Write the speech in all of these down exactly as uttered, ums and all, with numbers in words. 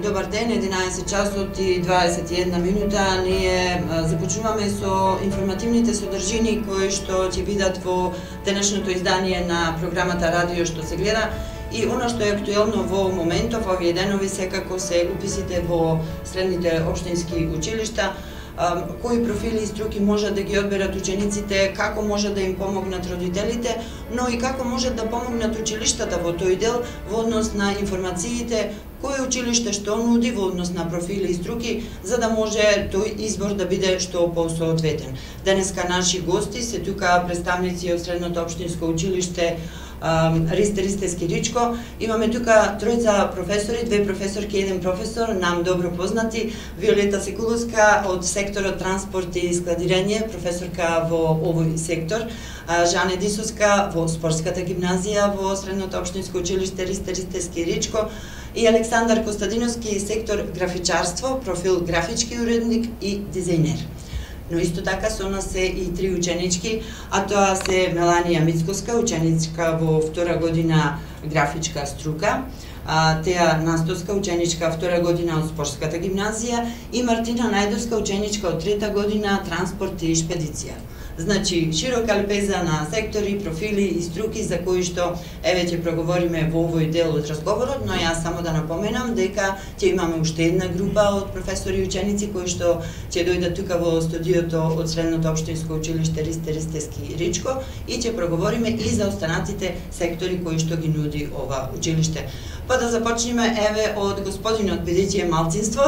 Добар ден, единаесет часот и дваесет и една минута. Ние започнуваме со информативните содржини кои што ќе бидат во денешното издание на програмата Радио што се гледа. И она што е актуелно во моментов, овие денови секако се уписите во средните општински училишта, кои профили и струки можат да ги одберат учениците, како можат да им помогнат родителите, но и како можат да помогнат училиштата во тој дел во однос на информациите, кој училиште што нуди во однос на профили и струки, за да може тој избор да биде што посоодветен. Денеска наши гости се тука представници од Средното општинско училиште Ристе Ристески Ричко. Имаме тука тројца професори, две професорки и еден професор, нам добро познати. Виолета Секуловска од секторот транспорт и складирање, професорка во овој сектор. Жане Дисовска во спортската гимназија во Средното општинско училиште Ристе Ристески Ричко. И Александар Костадиновски, сектор графичарство, профил графички уредник и дизајнер. Но исто така со нас се и три ученички, а тоа се Меланија Мицковска, ученичка во втора година графичка струка, Теја Настовска, ученичка втора година од спортската гимназија и Мартина Најдовска, ученичка од трета година транспорт и шпедиција. Значи, широка лепеза на сектори, профили и струки за кои што еве ќе проговориме во овој дел од разговорот, но јас само да напоменам дека ќе имаме уште една група од професори и ученици кои што ќе дојдат тука во студиото од Средното општинско училиште Ристе Ристески Ричко и ќе проговориме и за останатите сектори кои што ги нуди ова училиште. Па да започнеме еве од господинот, бидејќи е малцинство,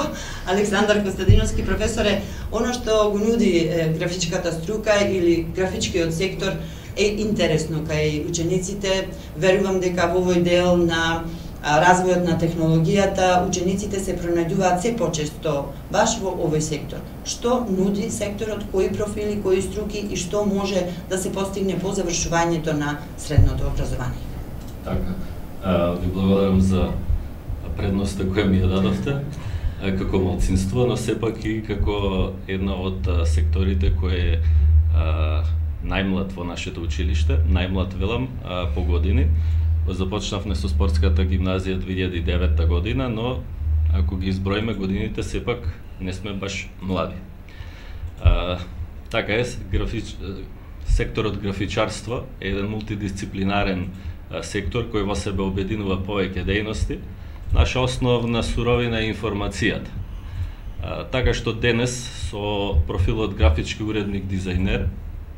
Александар Костадиновски, професоре, оно што го нуди е, графичката струка или графичкиот сектор е интересно кај учениците. Верувам дека во овој дел на а, развојот на технологијата учениците се пронајдуваат се почесто баш во овој сектор. Што нуди секторот, кои профили, кои струки и што може да се постигне по завршувањето на средното образование? Така. Ви благодарам за предноста која ми ја дадовте како малцинство, но сепак и како една од секторите кој е најмлад во нашето училиште, најмлад велам по години. Започнавме со спортската гимназија две илјади и девета година, но ако ги изброиме годините, сепак не сме баш млади. Така е, графич... секторот графичарство е еден мултидисциплинарен сектор кој во себе обединува повеќе дејности. Наша основна суровина е информацијата. Така што денес со профилот графички уредник дизајнер,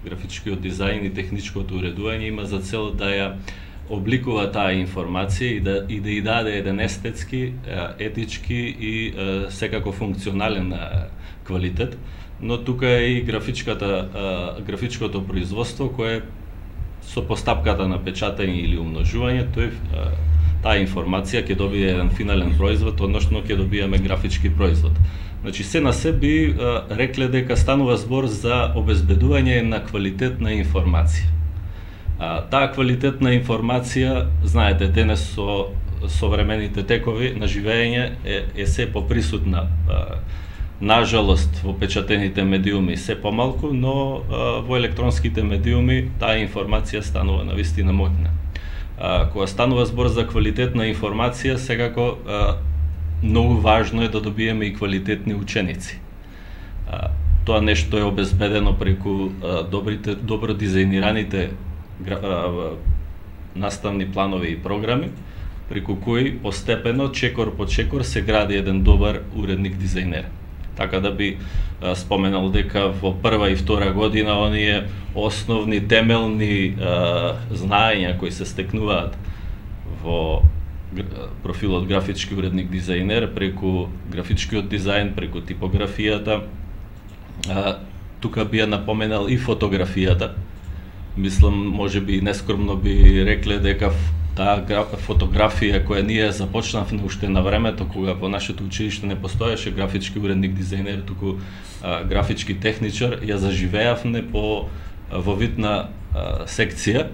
графичкиот дизајн и техничкото уредување има за цел да ја обликува таа информација и да и да ја даде еден естетски, етички и секако функционален квалитет, но тука е и графичката графичкото производство кое со постапката на печатање или умножување, тој таа информација ќе добие еден финален производ, односно ќе добиеме графички производ. Значи се на се би рекле дека станува збор за обезбедување на квалитетна информација. Таа квалитетна информација, знаете, денес со современите текови на живење е, е се поприсутна. Нажалост, во печатените медиуми се помалку, но а, во електронските медиуми таа информација станува навистина моќна. А, кога станува збор за квалитетна информација, секако а, многу важно е да добиеме и квалитетни ученици. А, тоа нешто е обезбедено преку а, добрите, добро дизајнираните а, наставни планови и програми, преку кои постепено, чекор по чекор, се гради еден добар уредник дизајнер. Така да би а, споменал дека во прва и втора година оние основни темелни а, знаења кои се стекнуваат во профилот графички уредник дизајнер преку графичкиот дизајн, преку типографијата. А, тука би ја напоменал и фотографијата. Мислам, може би нескромно би рекле дека таа фотографија која ние започнавме уште на времето кога во нашето училиште не постоеше графички уредник дизајнер, туку а, графички техничар, ја заживеавме по во вид на а, секција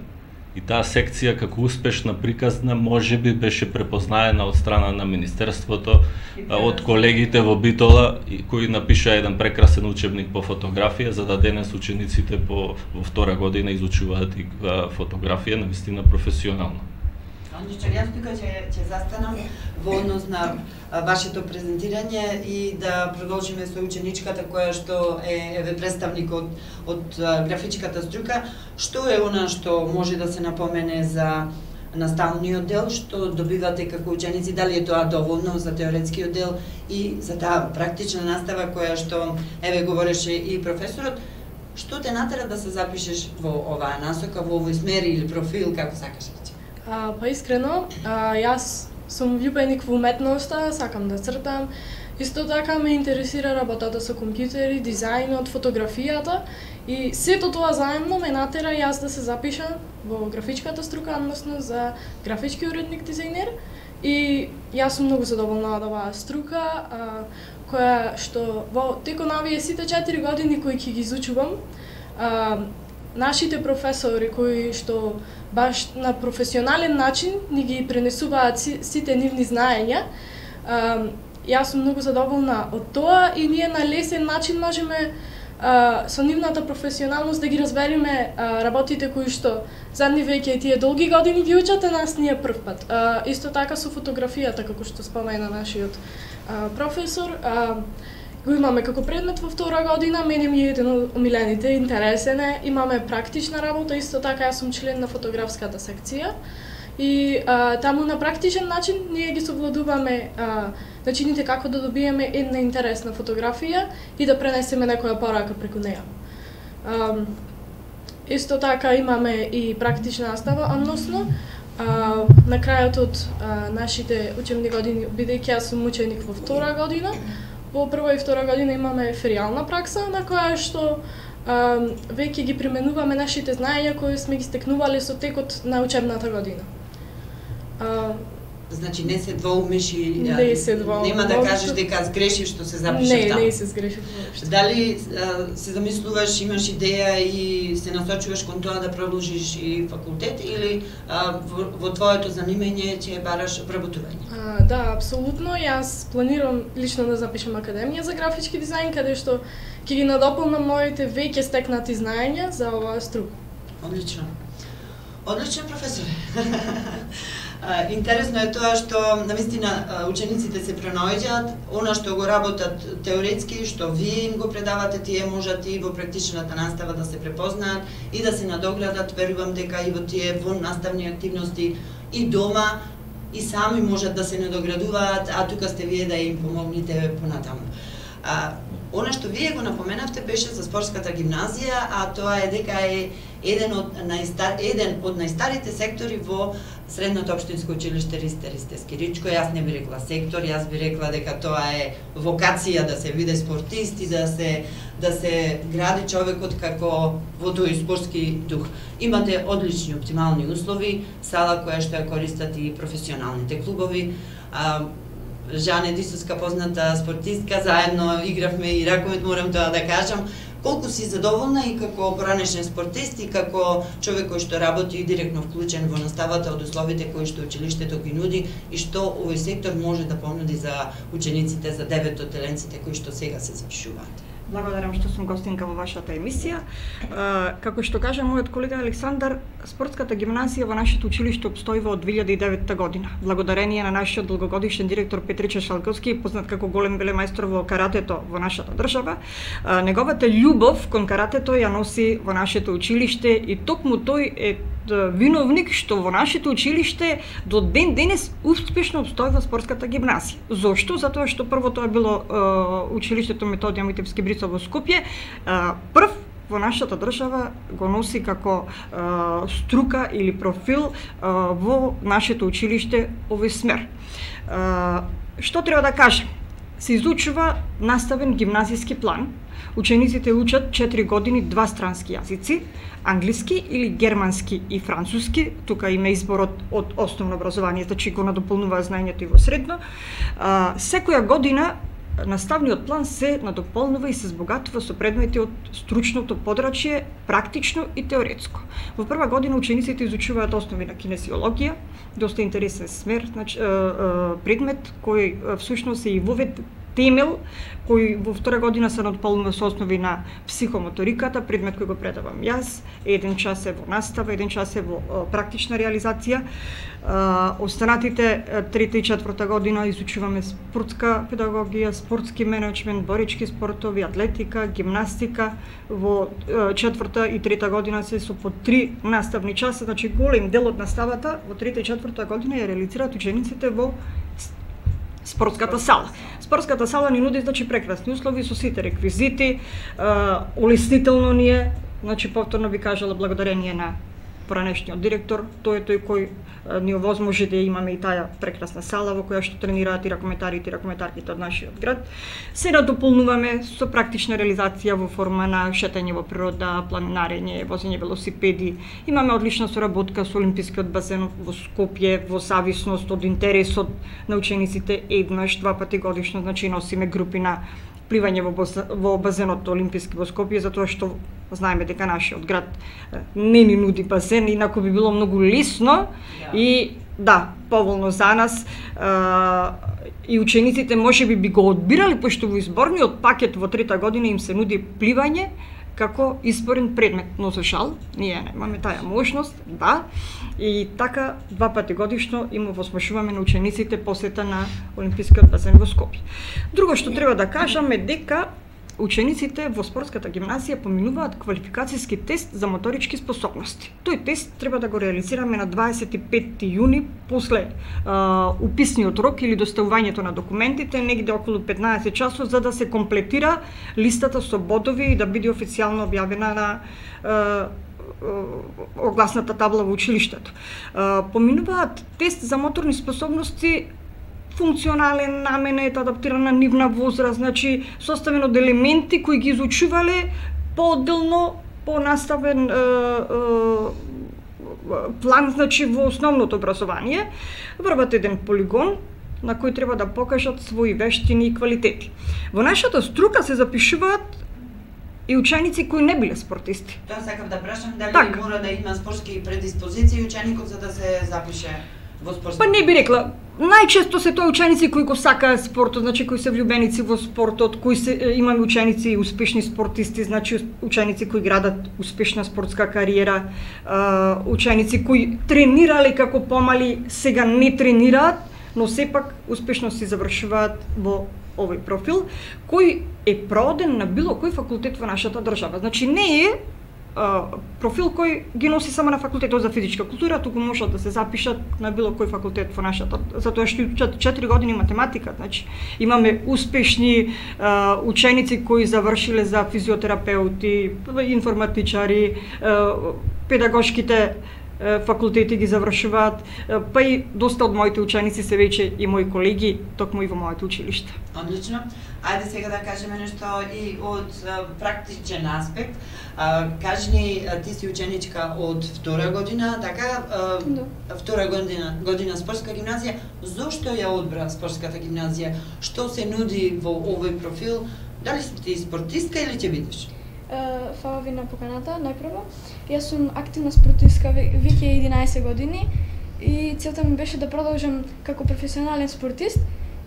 и таа секција како успешна приказна можеби беше препознаена од страна на Министерството, а, од колегите во Битола кои напиша еден прекрасен учебник по фотографија, за да денес учениците по во втора година изучуваат и а, фотографија навистина професионално. Одлично, јас тука ќе ќе застанам во однос на вашето презентирање и да продолжиме со ученичката која што е еве представник од од графичката струка. Што е она што може да се напомене за наставниот дел, што добивате како ученици, дали е тоа доволно за теоретскиот дел и за таа практична настава која што еве говореше и професорот? Што те натера да се запишеш во оваа насока, во овој смер или профил, како сакаш речи? А, па искрено, а, јас сум влюбеник во уметноста, сакам да цртам. Исто така ме интересира работата со компјутери, дизајнот, фотографијата и сето тоа заедно ме натера јас да се запишам во графичката струка, односно за графички уредник дизајнер. И јас сум многу задоволна од оваа струка, а, која што во текот на овие сите четири години кои ќе ги изучувам, а, нашите професори кои што баш на професионален начин ни ги пренесуваат сите нивни знаења, а, јас сум многу задоволна од тоа и ние на лесен начин можеме а, со нивната професионалност да ги разбереме а, работите кои што задни веќе тие долги години ги учат, а нас ние прв пат. А, исто така со фотографијата, како што спомена нашиот а, професор, а, го имаме како предмет во втора година, мене ми е еден од омилените, интересен е, имаме практична работа, исто така јас сум член на фотографската секција и а, таму на практичен начин ние ги совладуваме а, начините како да добиеме една интересна фотографија и да пренесеме некоја порака преку неја. А, исто така имаме и практична настава, односно а, на крајот од а, нашите учебни години, бидејќи јас сум ученик во втора година, во прва и втора година имаме феријална пракса на која што а, веќе ги применуваме нашите знаења кои сме ги стекнувале со текот на учебната година. А, Значи не се двоумиш и не се двоумиш. Нема да кажеш дека сгрешив што се запишеш таму. Не, не се сгрешив воопшто. Дали а, се замислуваш, имаш идеја и се насочуваш кон тоа да продолжиш и факултет или а, во, во твоето занимање ќе бараш вработување? А, да, апсолутно. Јас планирам лично да запишам академија за графички дизајн, каде што ќе ги надополнам моите веќе стекнати знаења за оваа струка. Одлично. Одлично, професоре. Интересно е тоа што навистина учениците се пренаоѓаат, она што го работат теоретски, што вие им го предавате, тие можат и во практичната настава да се препознаат и да се надоградат. Верувам дека и во тие вон наставни активности и дома и сами можат да се надоградуваат, а тука сте вие да им помогнете понатаму. А, она што вие го напоменавте беше за спортската гимназија, а тоа е дека е еден од најстар еден од најстарите сектори во Средното општинско училиште Ристер Истерски Ричко. Јас не би рекла сектор, јас би рекла дека тоа е вокација да се биде спортист и да се да се гради човекот како во тој спортски дух. Имате одлични оптимални услови, сала која што ја користат и професионалните клубови. А, Жане Дисуска, позната спортистка, заедно игравме и раковет, морам тоа да кажам. Колку си задоволна и како поранешен спортист и како човек кој што работи и директно вклучен во наставата од условите кои што училиштето ги нуди и што овој сектор може да понуди за учениците, за деветотеленците кои што сега се запишуваат? Благодарам што сум гостинка во вашата емисија. Како што кажа мојот колега Александар, спортската гимназија во нашето училиште обстојува од две илјади и девета година. Благодарение на нашиот долгогодишен директор Петриче Шалковски, познат како голем велемајстор во каратето во нашата држава. Неговата љубов кон каратето ја носи во нашето училиште и токму тој е виновник што во нашето училиште до ден денес успешно обстојува спортската гимназија. Зошто? Затоа што прво тоа било е, училиштето Методија Митевски Брицо во Скопје, е, прв во нашата држава го носи како е, струка или профил е, во нашето училиште овој смер. Е, што треба да кажем? Се изучува наставен гимназиски план. Учениците учат четири години два странски јазици, англиски или германски и француски. Тука има избор од, од основно образование, значи го надополнува знаењето и во средно. А, секоја година наставниот план се надополнува и се збогатува со предмети од стручното подрачје, практично и теоретско. Во прва година учениците изучуваат основи на кинезиологија, доста интересен смер, значи предмет кој всушност е и вовед темел кој во втора година се надполнува со основи на психомоториката, предмет кој го предавам јас. Еден час е во настава, еден час е во практична реализација. Останатите трета и четврта година изучуваме спортска педагогија, спортски менеджмент, борички спортови, атлетика, гимнастика. Во четврта и трета година се со по три наставни часа, значи голем дел од наставата во трета и четврта година ја реализираат учениците во спортската сала. Спортската сала ни нуди значи прекрасни услови со сите реквизити, улеснително ни е, значи повторно би кажала благодарение на поранешниот директор, тој е тој кој ни овозможи да имаме и таа прекрасна сала во која што тренираат и ракометарите и ракометарките од нашиот град. Се надополнуваме со практична реализација во форма на шетање во природа, планинарење, возење велосипеди. Имаме одлична соработка со Олимпискиот басен во Скопје, во зависност од интересот на учениците еднаш, два пати годишно, значи носиме групи на пливање во, во базенот Олимписки во Скопје, затоа што знаеме дека нашиот град не ни нуди басен, инаку би било многу лесно и да, поволно за нас. И учениците можеби би го одбирали, пошто во изборниот пакет во трета година им се нуди пливање како изборен предмет, но за жал ние немаме таа можност, да, и така два пати годишно им овозможуваме на учениците посета на Олимпискиот басен во Скопје. Друго што треба да кажаме дека учениците во спортската гимназија поминуваат квалификацијски тест за моторички способности. Тој тест треба да го реализираме на дваесет и петти јуни после а, уписниот рок или доставувањето на документите, негде околу петнаесет часот, за да се комплетира листата со бодови и да биде официјално објавена на а, огласната табла во училиштето. А, поминуваат тест за моторни способности функционален, наменет, адаптиран на нивна возраст, значи составен од елементи кои ги изучувале поодделно, понаставен е, е, план, значи во основното образование. Врват еден полигон на кој треба да покажат своји вештини и квалитети. Во нашата струка се запишуваат и ученици кои не биле спортисти. Тоа сакам да прашам, дали так. Мора да има спортски предиспозиции ученикот за да се запише во спортски? Па не би рекла. Најчесто се тоа ученици кои го сакаат спортот, значи кои се влюбеници во спортот, кои се имаме ученици и успешни спортисти, значи ученици кои градат успешна спортска кариера, ученици кои тренирале како помали, сега не тренираат, но сепак успешно си завршуваат во овој профил, кој е проден на било кој факултет во нашата држава. Значи не е профил кој ги носи само на факултетот за физичка култура, туку можат да се запишат на било кој факултет во нашата, затоа што учат четири години математика, значи имаме успешни а, ученици кои завршиле за физиотерапеути, информатичари, а, педагошките факултети ги завршуваат, па и доста од моите ученици се веќе и мои колеги, токму и во моето училиште. Одлично. Ајде сега да кажеме нешто и од практичен аспект. А, кажи ни, ти си ученичка од втора година, така? А, да. Втора година, година спортска гимназија. Зошто ја одбра спортската гимназија? Што се нуди во овој профил? Дали си ти спортистка или ќе бидеш? Фала ви на поканата, најпрво. Јас сум активна спортистка веќе единаесет години и целта ми беше да продолжам како професионален спортист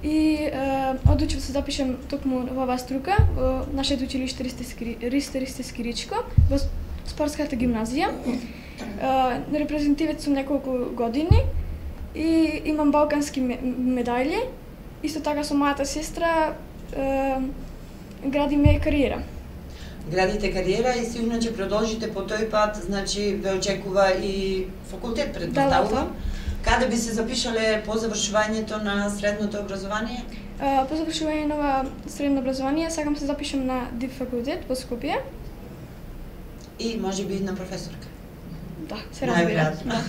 и е, одлучив се запишем токму во оваа струка, во нашето училиште Ристо Ристевски Ричко, во спортската гимназија. Е, репрезентивец сум неколку години и имам балкански медајли. Исто така со мојата сестра е, градиме кариера. Градите кариера и сигурно ќе продолжите по тој пат, значи ве очекува и факултет, предпоставувам. Да, да. Каде би се запишале по завршувањето на средното образование? Uh, по завршување на средно образование сакам се запишам на ДИП факултет во Скопје. И може би на професорка. Да, се разбира. Да.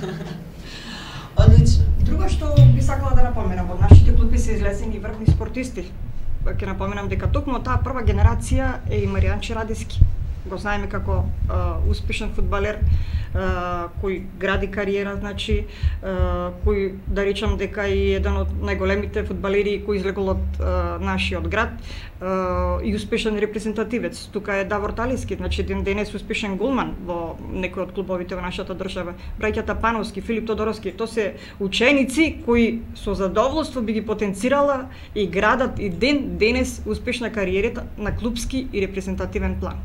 Одлично. Друго што би сакала да напоменам, од нашите клуби се излезени врвни спортисти. Ќе напоменам дека токму таа прва генерација е и Маријан Чарадиски. го знаеме како а, успешен фудбалер, а, кој гради кариера, значи, а, кој, да речам дека е еден од најголемите фудбалери кој излегол од а, нашиот град, а, и успешен репрезентативец. Тука е Давор Талиски, значи ден денес успешен голман во некој од клубовите во нашата држава. Браќата Пановски, Филип Тодоровски, тоа се ученици кои со задоволство би ги потенцирала и градат и ден денес успешна кариерата на клубски и репрезентативен план.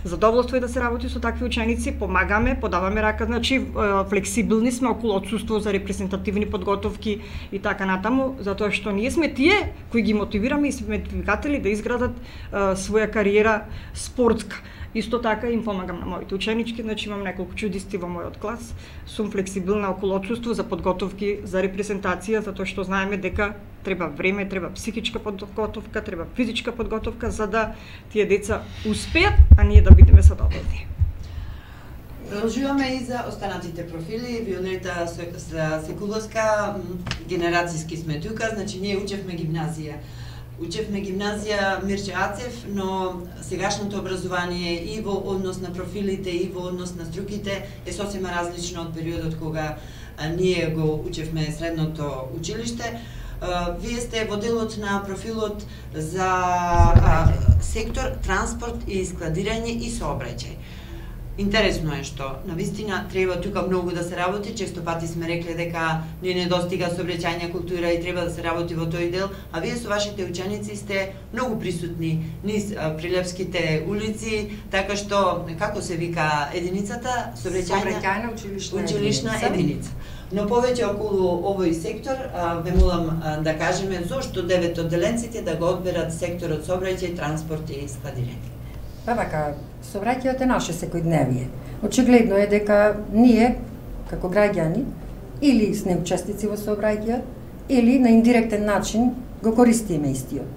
Задоволство е да се работи со такви ученици, помагаме, подаваме рака, значи флексибилни сме околу отсуство за репрезентативни подготовки и така натаму, затоа што ние сме тие кои ги мотивираме и сме двигатели да изградат а, своја кариера спортска. Исто така им помагам на моите ученички, значи имам неколку чудисти во мојот клас. Сум флексибилна околу отсуство за подготовки за репрезентација, затоа што знаеме дека треба време, треба психичка подготовка, треба физичка подготовка за да тие деца успеат, а ние да бидеме задоволни. Продолжуваме и за останатите профили. Виолета Секуловска, генерацијски сме тука, значи ние учевме гимназија. Учевме гимназија Мирче Ацев, но сегашното образование и во однос на профилите и во однос на струките е сосема различно од периодот кога а, ние го учевме средното училиште. А, вие сте во делот на профилот за а, сектор транспорт и складирање и сообраќај. Интересно е што навистина треба тука многу да се работи, често пати сме рекле дека не недостига сообраќајна култура и треба да се работи во тој дел, а вие со вашите ученици сте многу присутни низ прилепските улици, така што како се вика единицата сообраќајна училишна, училишна единица. Но повеќе околу овој сектор, ве молам да кажеме зошто девет одделенците да го одберат секторот сообраќај, транспорт и складирање. Па вака, сообраќајот е наше секојдневие. Очигледно е дека ние, како граѓани, или сме учесници во сообраќајот, или на индиректен начин го користиме истиот.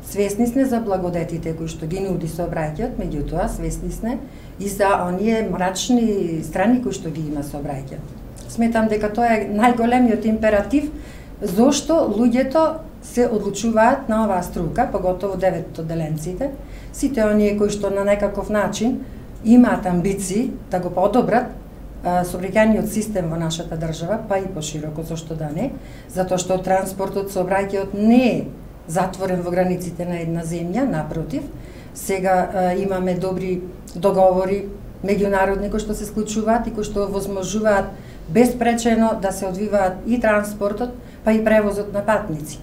Свесни сме за благодетите кои што ги нуди сообраќајот, меѓутоа свесни сме и за оние мрачни страни кои што ги има сообраќајот. Сметам дека тоа е најголемиот императив зошто луѓето се одлучуваат на оваа струка, поготово девет одделенците, сите оние кои што на некаков начин имаат амбиции да го подобрат сообраќајниот систем во нашата држава, па и пошироко, зошто да не, затоа што транспортот, сообраќајот не е затворен во границите на една земја, напротив, сега а, имаме добри договори меѓународни кои што се склучуваат и кои што возможуваат безпречено да се одвиваат и транспортот, па и превозот на патници.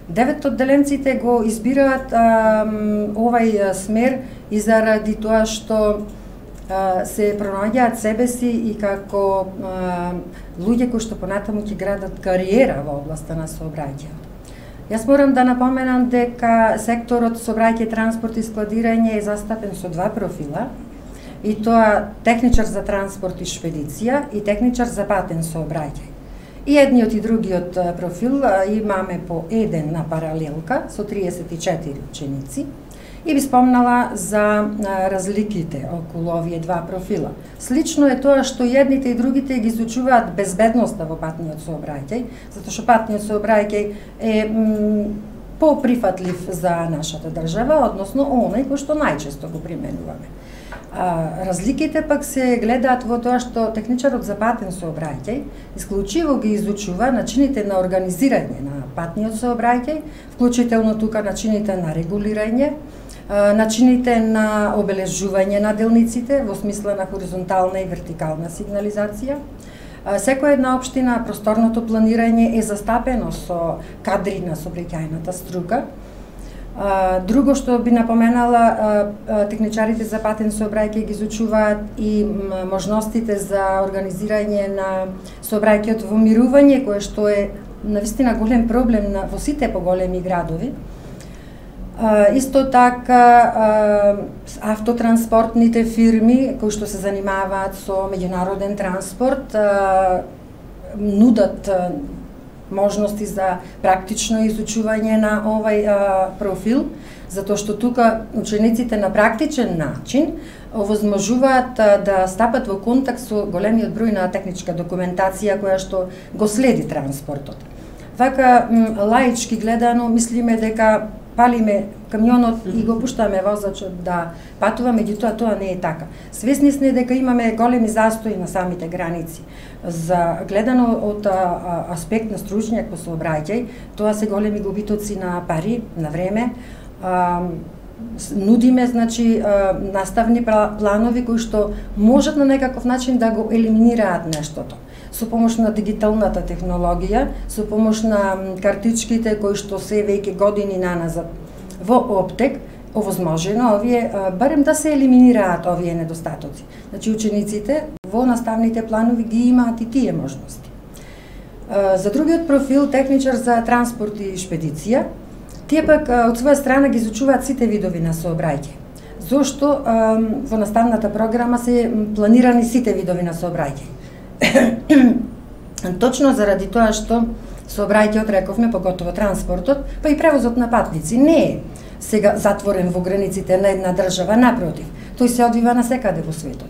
Девет одделенците го избираат а, овај смер и заради тоа што а, се пронаоѓаат себе си и како а, луѓе кои што понатаму ќе градат кариера во областа на сообраќајот. Јас морам да напоменам дека секторот сообраќај, транспорт и складирање е застапен со два профила, и тоа техничар за транспорт и шпедиција и техничар за патен сообраќај. И едниот и другиот профил имаме по еден на паралелка со триесет и четири ученици и би спомнала за разликите околу овие два профила. Слично е тоа што едните и другите ги изучуваат безбедноста во патниот сообраќај, затоа што патниот сообраќај е поприфатлив за нашата држава, односно оној кој што најчесто го применуваме. А, разликите пак се гледаат во тоа што техничарот за патен сообраќај исклучиво ги изучува начините на организирање на патниот сообраќај, вклучително тука начините на регулирање, а, начините на обележување на делниците во смисла на хоризонтална и вертикална сигнализација. А, секоја една општина просторното планирање е застапено со кадри на сообраќајната струка. Uh, друго што би напоменала, uh, uh, техничарите за патен сообраќај ги изучуваат и можностите за организирање на сообраќајот во мирување, кое што е навистина голем проблем на, во сите поголеми градови. Uh, исто така uh, автотранспортните фирми кои што се занимаваат со меѓународен транспорт uh, нудат uh, можности за практично изучување на овај а, профил, затоа што тука учениците на практичен начин овозможуваат а, да стапат во контакт со големиот број на техничка документација која што го следи транспортот. Вака, лаички гледано, мислиме дека палиме камионот и го пуштаме возачот да патува, меѓутоа тоа не е така. Свесни сме дека имаме големи застои на самите граници. За гледано од а, аспект на стручњак по сообраќај, тоа се големи губитоци на пари, на време. А, нудиме, значи, наставни планови кои што можат на некаков начин да го елиминираат нештото. Со помош на дигиталната технологија, со помош на картичките кои што се веќе години наназад во оптек, овозможено овие барем да се елиминираат овие недостатоци. Значи учениците во наставните планови ги имаат и тие можности. За другиот профил, техничар за транспорт и шпедиција, тие пак од своја страна ги изучуваат сите видови на сообраќај. Зошто во наставната програма се планирани сите видови на сообраќај? Точно заради тоа што сообраќајот, рековме, поготово транспортот, па и превозот на патници не е сега затворен во границите на една држава, напротив, тој се одвива насекаде во светот.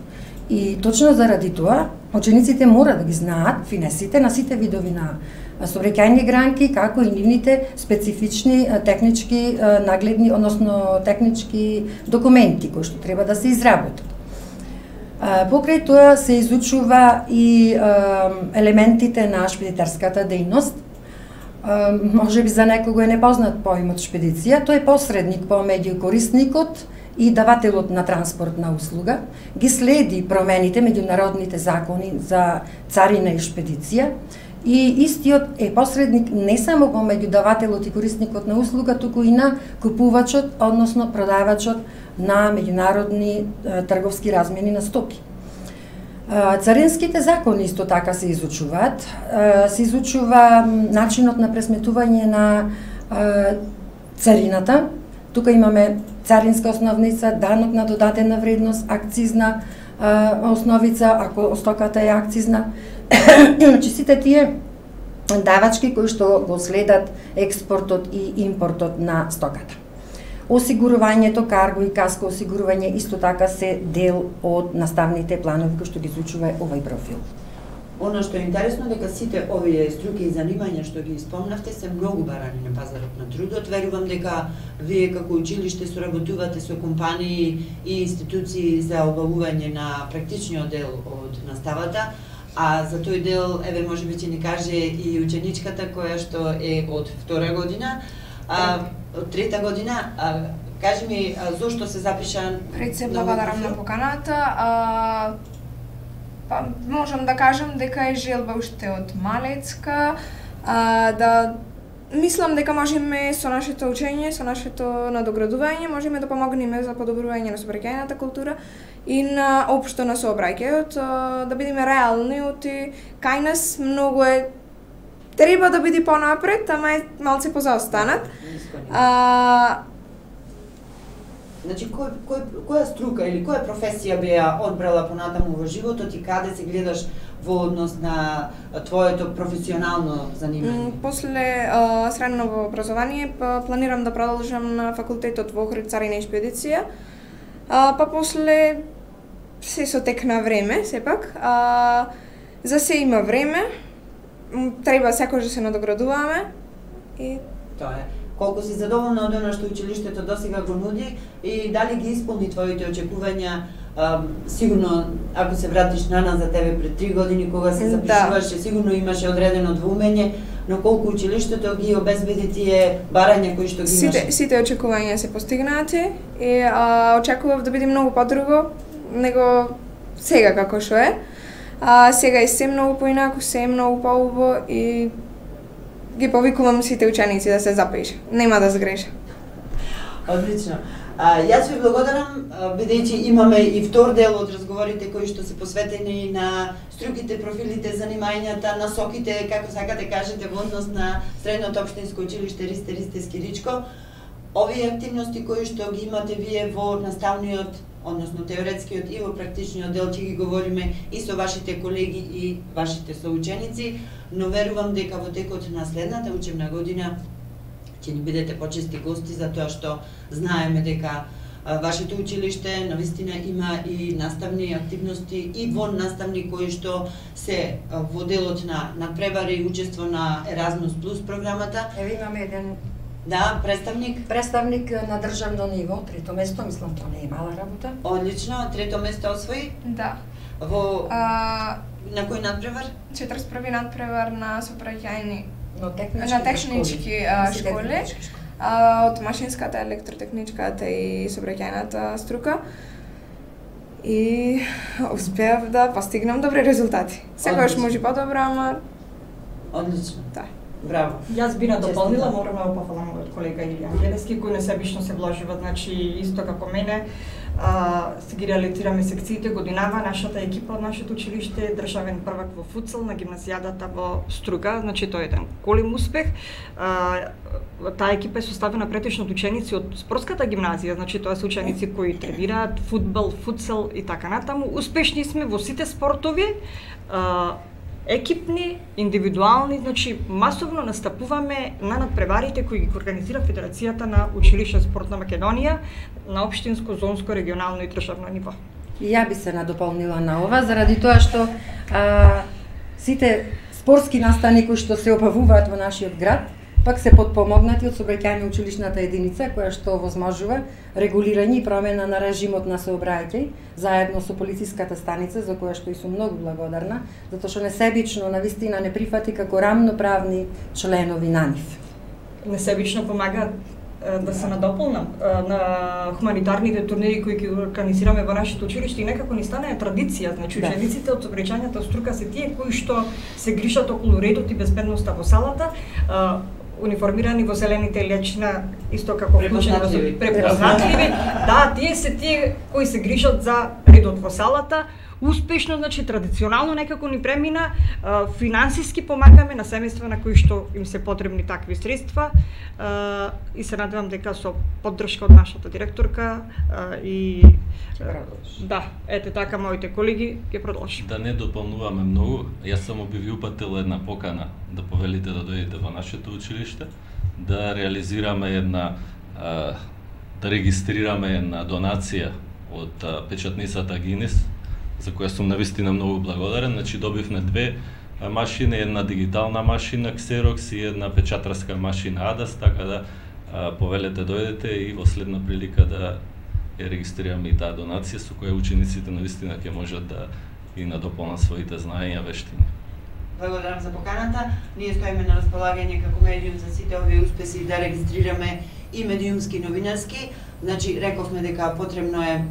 И точно заради тоа, учениците мора да ги знаат финесите на сите видови на сообраќајни гранки, како и нивните специфични технички нагледни, односно технички документи кои што треба да се изработат. Покрај тоа се изучува и елементите на шпедитарската дејност. Може би за некого е непознат поимот шпедиција, тој е посредник помеѓу корисникот и давателот на транспортна услуга, ги следи промените меѓународните закони за царина и шпедиција, и истиот е посредник не само помеѓу давателот и корисникот на услуга, туку и на купувачот, односно продавачот на меѓународни трговски размени на стоки. Царинските закони исто така се изучуваат. Се изучува начинот на пресметување на царината. Тука имаме царинска основница, данок на додадена вредност, акцизна основица, ако стоката е акцизна. Значи сите тие давачки кои што го следат експортот и импортот на стоката. Осигурувањето, карго и каско осигурување исто така се дел од наставните планови кои што ги изучува овој профил. Оно што е интересно дека сите овие струки и занимања што ги спомнавте се многу барани на пазарот на трудот. Верувам дека вие како училиште соработувате со компании и институции за обавување на практичниот дел од наставата, а за тој дел, еве, можеби ќе ни каже и ученичката која што е од втора година, а, од трета година. А, кажи ми, а, зошто се запиша? Пред се благодарам на поканата. А, па, можам да кажам дека е желба уште од малецка, а, да мислам дека можеме со нашето учење, со нашето надоградување, можеме да помогнеме за подобрување на сообраќајната култура и на општо на сообраќајот, да бидеме реални, оти кај нас многу е треба да биде понапред, ама е малце позаостанат. А, Значи, кој, кој, која струка или која професија би ја одбрала понатаму во животот и каде се гледаш во однос на твоето професионално занимање? После а, средно образование планирам да продолжам на факултетот во Охрид царина и шпедиција, а, па после се со тек на време, сепак. А, за се има време, треба секој да се надоградуваме и тоа е. Колку си задоволна од она што училиштето досега го нуди и дали ги исполни твоите очекувања? А, сигурно, ако се вратиш наназад за тебе пред три години, кога се запишуваше, да, сигурно имаше одредено двоумење, но колку училиштето ги обезбеди тие барања кои што ги имаш? Сите, сите очекувања се постигнати и а, очекував да биде многу подруго него сега како што е. А, сега е се многу поинаку, се е многу поубаво и ги повикувам сите ученици да се запише. Нема да сгреша. Одлично. А, јас ви благодарам, бидејќи имаме и втор дел од разговорите кои што се посветени на струките, профилите, занимањата, насоките, како сакате кажете, во однос на Средното општинско училиште Ристе Ристевски Ричко. Овие активности кои што ги имате вие во наставниот, односно теоретскиот и во практичниот дел, ќе ги говориме и со вашите колеги и вашите соученици, но верувам дека во текот на следната учебна година ќе ни бидете почести гости, затоа што знаеме дека а, вашето училиште навистина има и наставни активности и вон наставни кои што се а, во делот на надпревари и учество на Еразмус Плюс програмата. Еве имаме еден Да, представник. Представник на државно ниво, трето место, мислам тоа не е мала работа. Одлично, трето место освои. Да. Во А, на кој надпревар? четиридесет први надпревар на сообраќајни Но технички на технички а, школи, а, од машинската, електротехничката и сообраќајната струка. И успеав да постигнам добри резултати. Секогаш може подобро, ама Одлично. да. Браво. Јас би надополнила, морам да пофалам мојот колега Илијан Гедески, кој несебично се вложува, значи исто како мене, а, се ги реализираме секциите годинава, нашата екипа од нашето училиште, државен првак во футсал на гимназијадата во Струга, значи тоа е еден голем успех. А, таа екипа е составена претечно од ученици од спортската гимназија, значи тоа се ученици кои тренираат фудбал, футсал и така натаму. Успешни сме во сите спортови, а, екипни, индивидуални, значи масовно настапуваме на надпреварите кои ги организира Федерацијата на училиште спорт на Македонија на општинско, зонско, регионално и државно ниво. И ја би се надополнила на ова, заради тоа што а, сите спортски настани кои што се обавуваат во нашиот град, пак се подпомогнати од сообраќајна училишната единица, која што возможува регулирање и промена на режимот на сообраќај, заедно со полициската станица, за која што и сум многу благодарна, затоа што несебично навистина не прифати како рамноправни членови на нив. Несебично помагаат да се надополнам на хуманитарните турнири кои ги организираме во нашето училиште и некако ни стана традиција, значи Да. учениците од сообраќајната струка се тие кои што се грижат околу редот и безбедноста во салата, униформирани во зелените лечина, исто како Препознатливи. препознатливи. Да, тие се тие кои се грижат за редот во салата. Успешно, значи традиционално некако ни премина, а, финансиски помагаме на семејства на кои што им се потребни такви средства, а, и се надевам дека со поддршка од нашата директорка а, и да, ете така моите колеги ќе продолжим. Да не дополнуваме многу, јас само би ви упатил една покана да повелите да дојдете во нашето училиште, да реализираме една, а, да регистрираме една донација од а, печатницата Гинес, за која сум навистина многу благодарен. Значи добивме две а, машини, една дигитална машина Xerox и една печатарска машина Адас, така да а, повелете дојдете и во следна прилика да ја регистрираме и таа донација со која учениците навистина ќе можат да и надополнат своите знаења, вештини. Благодарам за поканата. Ние стоиме на располагање како медиум за сите овие успеси да регистрираме и медиумски новинарски. Значи рековме дека потребно е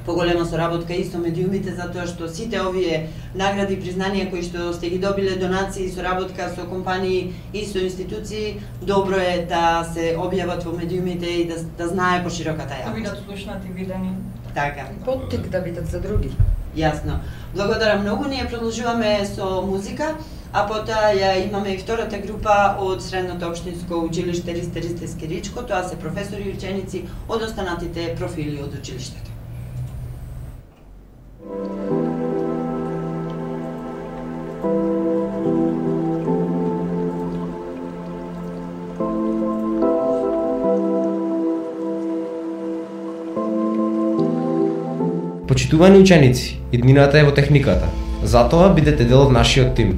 поголема соработка и со медиумите, затоа што сите овие награди и признанија кои што сте ги добиле, донации и соработка со компании и со институции, добро е да се објават во медиумите и да, да знае пошироката Да јавност. бидат слушнати, видени. Така. Поттик да бидат за други. Јасно. Благодарам многу. Ние продолжуваме со музика, а потоа ја имаме и втората група од Средното општинско училиште Ристе Ристе Скиричко. Тоа се професори и ученици од останатите профили од училиштето. Почитувани ученици, иднината е во техниката. Затоа бидете дел од нашиот тим.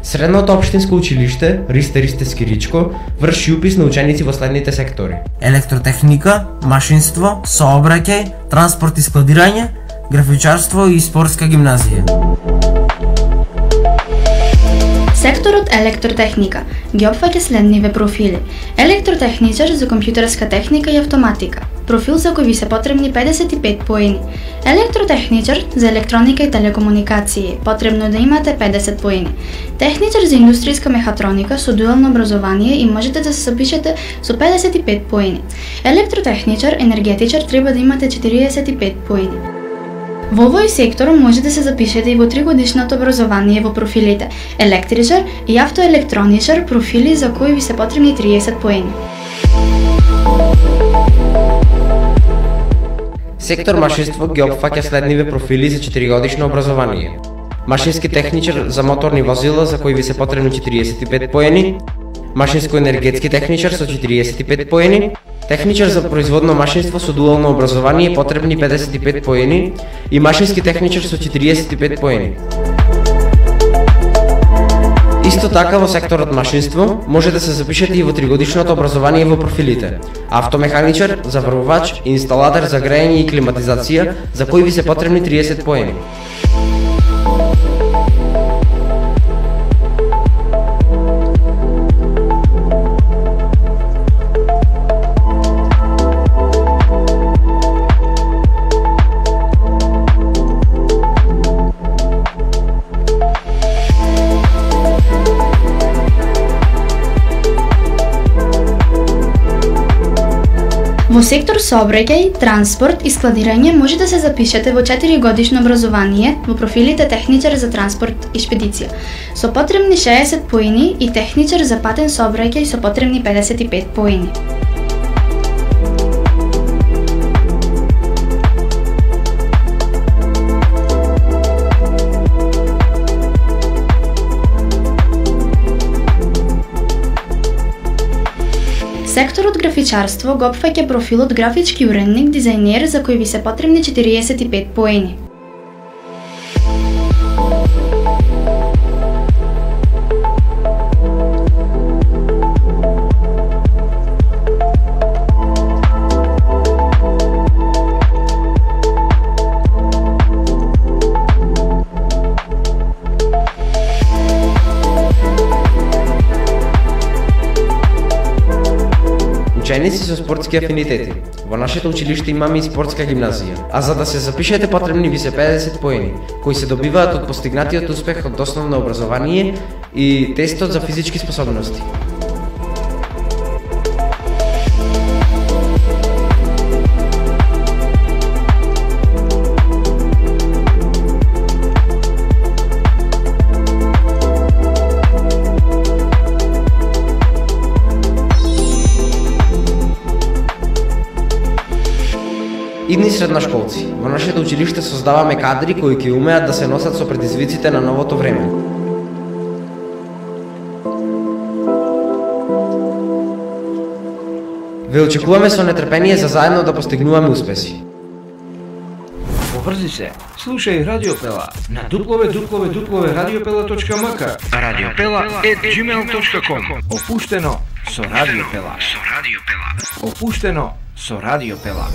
Средното општинско училиште Ристе Ристе Скиричко врши упис на ученици во следните сектори: електротехника, машинство, сообраќај, транспорт и складирање, графичарство и спортска гимназија. Секторот електротехника ги опфаќа следниве профили: електротехничар за компјутерска техника и автоматика, профил за кој ви се потребни педесет и пет поени; електротехничар за електроника и телекомуникации, потребно да имате педесет поени; техничар за индустријска мехатроника со дуално образование и можете да се запишете со педесет и пет поени; електротехничар енергетичар треба да имате четириесет и пет поени. Во овој сектор може да се запишете и во тригодишното образование во профилите електричар и автоелектроничар, профили за кои ви се потребни триесет поени. Сектор машинство ги опфаќа следниве профили за четиригодишно образование: машински техничар за моторни возила за кои ви се потребни четириесет и пет поени, машинско-енергетски техничар со четириесет и пет поени, техничар за производно машинство со дуално образование потребни педесет и пет поени и машински техничар со четириесет и пет поени. Исто така во секторот машинство може да се запишете и во тригодишното образование во профилите: автомеханичар, заврвувач, инсталатор за грејење и климатизација, за кои ви се потребни триесет поени. Во сектор сообраќај, транспорт и складирање може да се запишете во четиригодишно образование во профилите техничар за транспорт и шпедиција со потребни шеесет поени и техничар за патен сообраќај со потребни педесет и пет поени. Секторот графичарство го опфаќа профилот графички уредник, дизајнер, за кој ви се потребни четириесет и пет поени. Ученици со спортски афинитети. Во нашето училиште имаме и спортска гимназија, а за да се запишете потребни ви се педесет поени, кои се добиваат од постигнатиот успех од основно образование и тестот за физички способности. Идни средношколци. Во нашето училиште создаваме кадри кои ќе умеат да се носат со предизвиците на новото време. Ве очекуваме со нетрпение за заедно да постигнуваме успеси. Поврзи се, слушај Радиопела на дуплове дуплове дуплове радиопела точка м к, радиопела ет джимейл точка ком. Опуштено со Радиопела. Опуштено со Радиопела.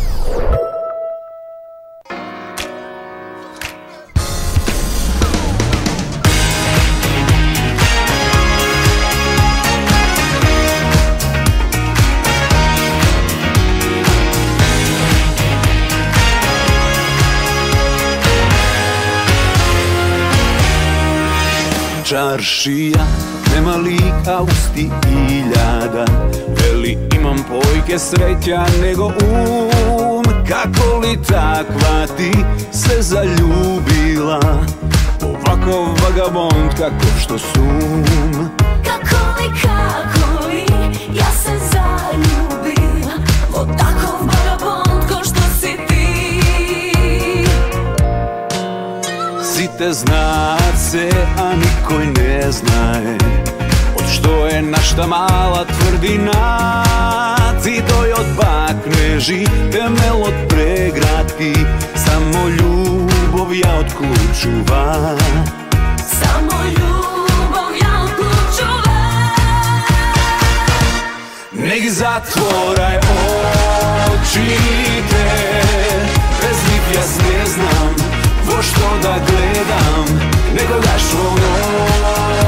Čaršija, nema lika usti iljada, veli imam pojke sreća nego um. Kako li takva ti se zaljubila, ovako vagabond kako što sum. Kako li, kako li, ja se zaljubila, o takov vagabond ko što si ti. Site znace, a nikoj ne znaje, od što je našta mala tvrdina. Ti doj od bakneži, temel od pregradki, samo ljubov ja odključuva. Samo ljubov ja odključuva. Nek zatvoraj oči te, bez njih ja ne znam vo što da gledam, nego daš svoj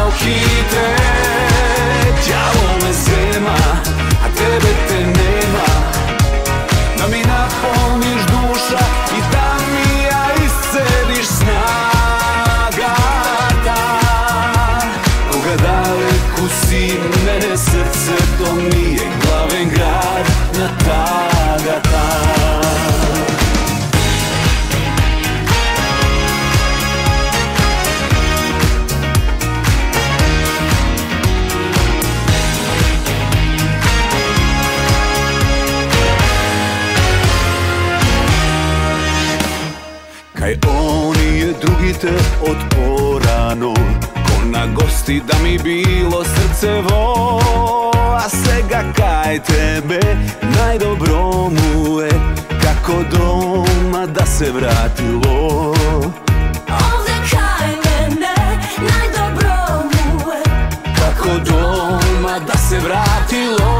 okite. Djavo me zema, a tebe te nema, da mi napolniš duša i da mi ja iscediš snaga ta. Koga daleku si, mene srce to nije glaven grad na Tagata. Kaj oni je drugite od porano, ko na gosti da mi bilo srce vo. A sega kaj tebe najdobro mu je, kako doma da se vratilo. Ovde kaj mene najdobro mu je, se vratilo.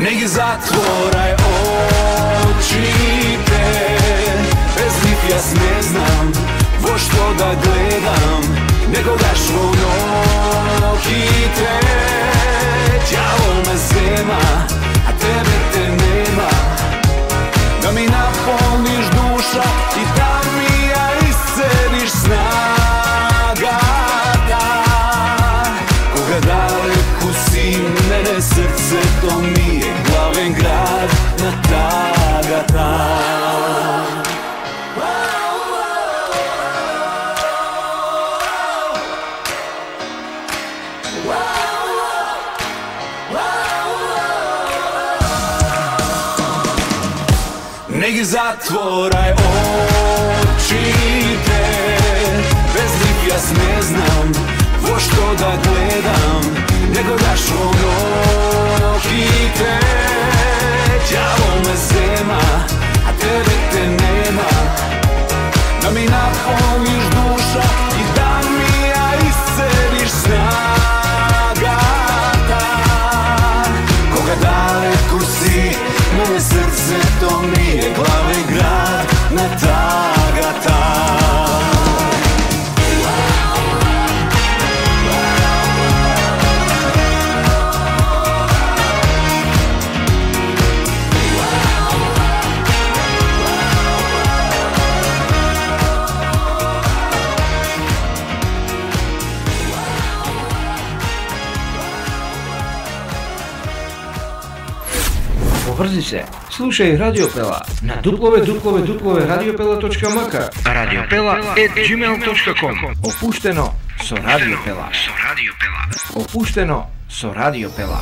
Ne gi zatvoraj očite, bez njih jas ne znam vo što da gledam, nego daš vo nohite. Đavo me zema, a tebe te nema, da mi napolniš duša i da mi ja isceliš snagata. Koga daleku si, mene srce to nije, glaven grad na tagata. Ne gi zatvoraj očite, bez njih jas ne znam vo što da gledam, nego daš vo nohite. Đavo me zema, a tebe te nema, da mi napolniš duša i da mi ja isceliš snagata. Koga daleko si, moje srce to nije, glavni grad na tagata. Поврзи се, слушај Радиопела на дабл ю дабл ю дабл ю точка радиопела точка ем ка, радиопела ет џимейл точка ком. Опуштено со Радиопела. Опуштено со Радиопела.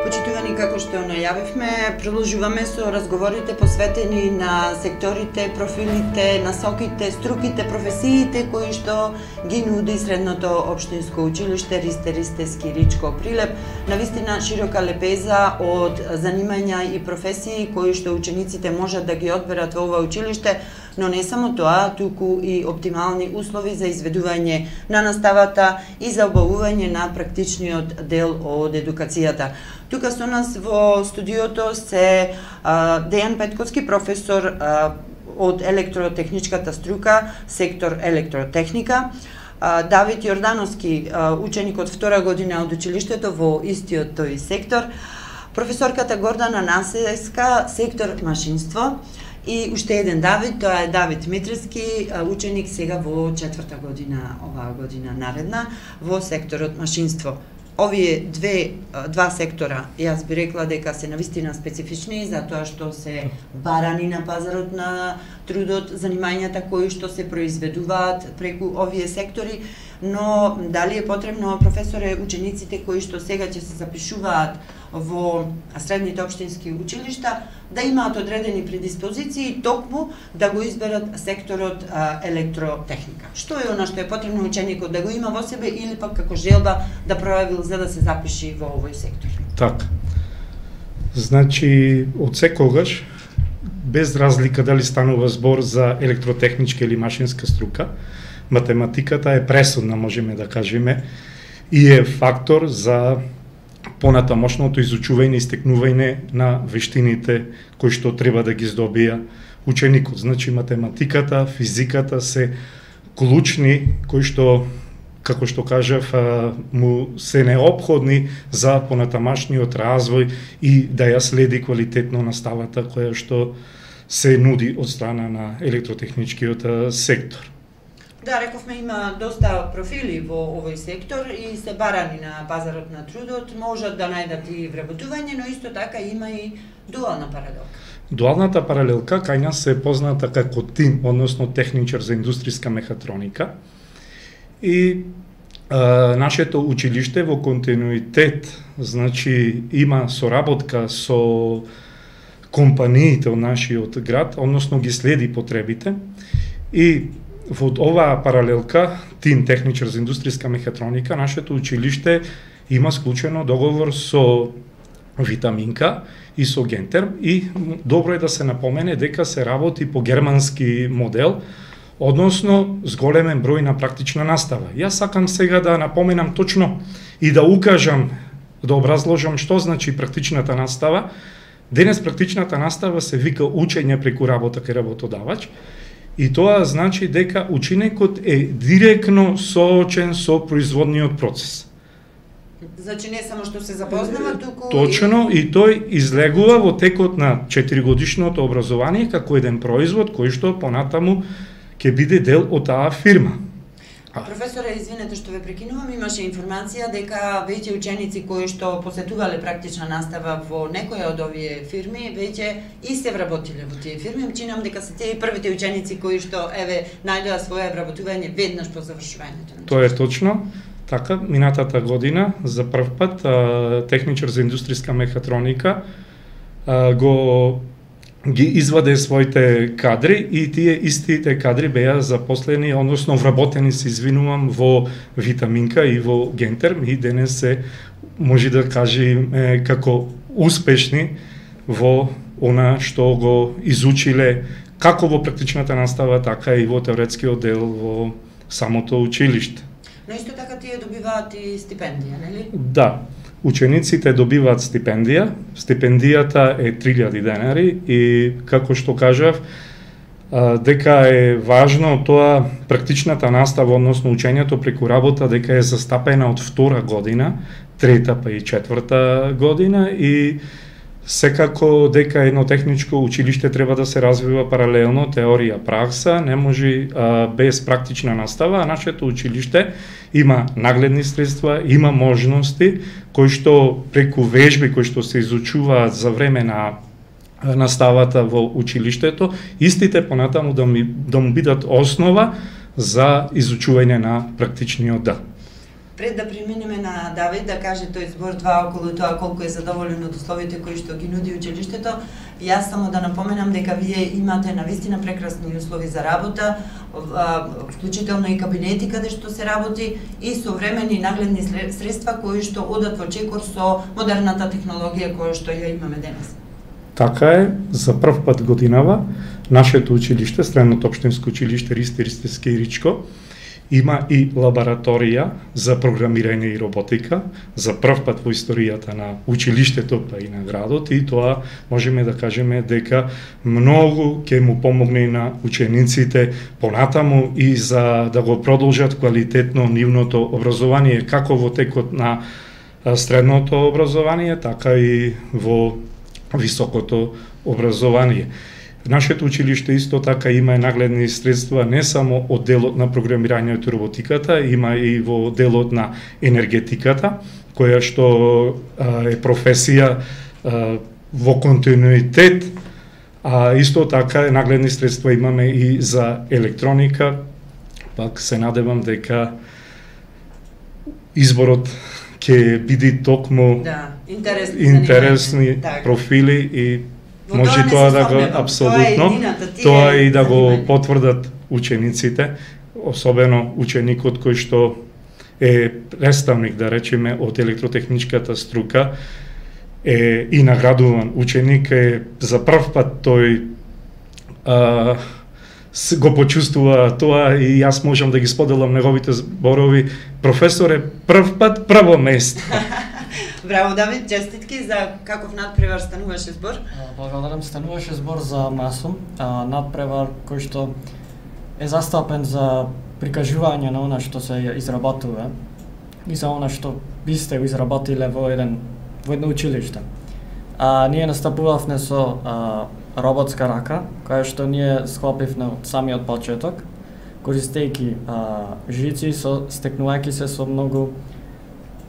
Почитувани, како што најавивме, продолжуваме со разговорите посветени на секторите, профилите, насоките, струките, професиите кои што ги нуди средното општинско училиште Ристе Ристески Ричко Прилеп. Навистина широка лепеза од занимања и професии кои што учениците можат да ги одберат во ова училиште, но не само тоа, туку и оптимални услови за изведување на наставата и за обавување на практичниот дел од едукацијата. Тука со нас во студиото се а, Дејан Петковски, професор а, од електротехничката струка, сектор електротехника, а, Давид Јордановски, а, ученик од втора година од училиштето во истиот тој сектор, професорката Гордана Насеска, сектор машинство, и уште еден Давид, тоа е Давид Митрески, ученик сега во четврта година, оваа година наредна, во секторот машинство. Овие две, два сектора, јас би рекла дека се навистина специфични, затоа што се барани на пазарот на трудот, занимањата кои што се произведуваат преку овие сектори, но дали е потребно, професоре, учениците кои што сега ќе се запишуваат во средните општински училишта, да имаат одредени предиспозиции токму да го изберат секторот а, електротехника. Што е она што е потребно ученикот да го има во себе или пак како желба да пројавил за да се запиши во овој сектор? Така. Значи, од секогаш, без разлика дали станува збор за електротехничка или машинска струка, математиката е пресудна, можеме да кажеме, и е фактор за понатамошното изучување и стекнување на вештините кои што треба да ги здобија ученикот. Значи, математиката, физиката се клучни кои што, како што кажав, му се неопходни за понатамашниот развој и да ја следи квалитетно наставата која што се нуди од страна на електротехничкиот сектор. Да, рековме, има доста профили во овој сектор и се барани на пазарот на трудот, можат да најдат и вработување, но исто така има и дуална паралелка. Дуалната паралелка кај нас се позната како ТИМ, односно техничар за индустријска мехатроника. И а, нашето училиште во континуитет, значи има соработка со компаниите од нашиот град, односно ги следи потребите и во оваа паралелка, ТИМ техничар за индустријска мехатроника, нашето училиште има склучено договор со Витаминка и со Гентерм и добро е да се напомене дека се работи по германски модел, односно зголемен број на практична настава. Јас сакам сега да напоменам точно и да укажам, да образложам што значи практичната настава. Денес практичната настава се вика учење преку работа кај работодавач, и тоа значи дека ученикот е директно соочен со производниот процес. Значи не само што се запознава, туку Точно, и тој излегува во текот на четиригодишното образование како еден производ кој што понатаму ќе биде дел од таа фирма. Професоре, извинете што ве прекинувам, имаше информација дека веќе ученици кои што посетувале практична настава во некоја од овие фирми, веќе и се вработиле во тие фирми. Чинам дека се тие првите ученици кои што еве најдоа своје вработување веднаш по завршувањето. Тоа е точно. Така, минатата година за прв пат а, техничар за индустријска мехатроника а, го ги изваде своите кадри и тие истите кадри беа запослени, односно вработени, се извинувам, во Витаминка и во Гентерм, и денес се може да кажеме како успешни во она што го изучиле како во практичната настава, така и во теоретскиот дел во самото училиште. Но исто така тие добиваат и стипендија, нели? Да. Учениците добиваат стипендија. Стипендијата е три илјади денари и, како што кажав, дека е важно тоа практичната настава, односно учењето преку работа, дека е застапена од втора година, трета па и четврта година, и секако дека едно техничко училиште треба да се развива паралелно теорија пракса, не може а, без практична настава, а нашето училиште има нагледни средства, има можности кои што преку вежби кои што се изучуваат за време на наставата во училиштето, истите понатаму да, ми, да му бидат основа за изучување на практичниот дел. Пред да преминеме на Давид да каже тој збор два околу тоа колку е задоволен од условите кои што ги нуди училиштето, јас само да напоменам дека вие имате навистина прекрасни услови за работа, вклучително и кабинети каде што се работи и современи нагледни средства кои што одат во чекор со модерната технологија која што ја имаме денес. Така е, за прв пат годинава нашето училиште, Средното општинско училиште Ристи Ристевски и Ричко, има и лабораторија за програмирање и роботика, за прв пат во историјата на училиштето па и на градот, и тоа можеме да кажеме дека многу ќе му помогне на учениците понатаму и за да го продолжат квалитетно нивното образование, како во текот на средното образование, така и во високото образование. Нашето училиште исто така има нагледни средства не само од делот на програмирањето и роботиката, има и во делот на енергетиката, која што а, е професија а, во континуитет, а исто така нагледни средства имаме и за електроника. Пак се надевам дека изборот ќе биде токму да, интересни, интересни профили и може тоа да го апсолутно, тоа и да го потврдат учениците, особено ученикот кој што е представник, да речеме, од електротехничката струка, е и наградуван ученик, е за прв пат тој а, го почувствува тоа и јас можам да ги споделам неговите зборови. Професор е прв пат прво место. Браво, Давид, честитки за каков надпревар стануваше збор? Благодарам, стануваше збор за Масум, надпревар кој што е застапен за прикажување на она што се изработува и за она што ви сте го изработиле во еден во едно училиште. А ние настапувавме со а, роботска рака, која што ние склопивме од самиот почеток, користејќи жици, со стекнувајќи се со многу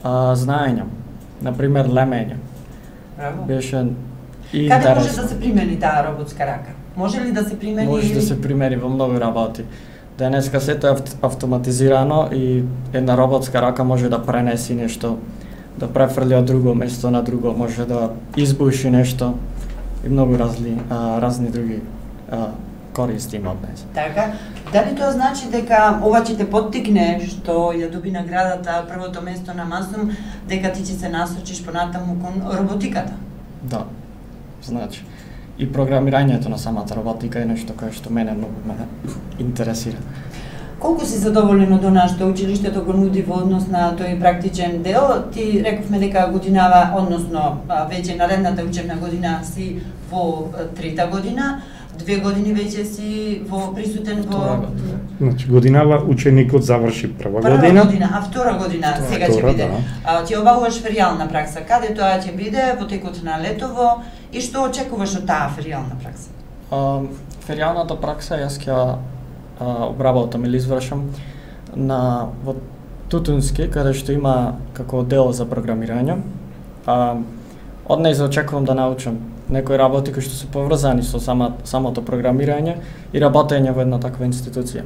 а, знаења. Например, лемење. Браво. Беше и Каде интересно. може да се примени таа роботска рака? Може ли да се примени? Може или... да се примени во многу работи. Денеска сето е автоматизирано и една роботска рака може да пренеси нешто, да префрли од друго место на друго, може да избуши нешто и многу разли, а, разни други а, користи има од днес. Така, дали тоа значи дека ова ќе те поттикне што ја доби наградата првото место на Масум, дека ти ќе се насочиш понатаму кон роботиката? Да, значи. и програмирањето на самата роботика е нешто кое што мене многу ме интересира. Колку си задоволен од она што училиштето го нуди во однос на тој практичен дел? Ти рековме дека годинава, односно веќе наредната учебна година си во трета година, две години веќе си во присутен во... Значи годинава ученикот заврши прва, прва година. година, а втора година втора, сега ќе биде. Да. А, ти обавуваш феријална пракса. Каде тоа ќе биде во текот на летово и што очекуваш од таа феријална пракса? А, феријалната пракса јас ќе обработам или извршам на во Тутунски, каде што има како дел за програмирање. А, од неј очекувам да научам некои работи кои што се поврзани со сама, самото програмирање и работење во една таква институција.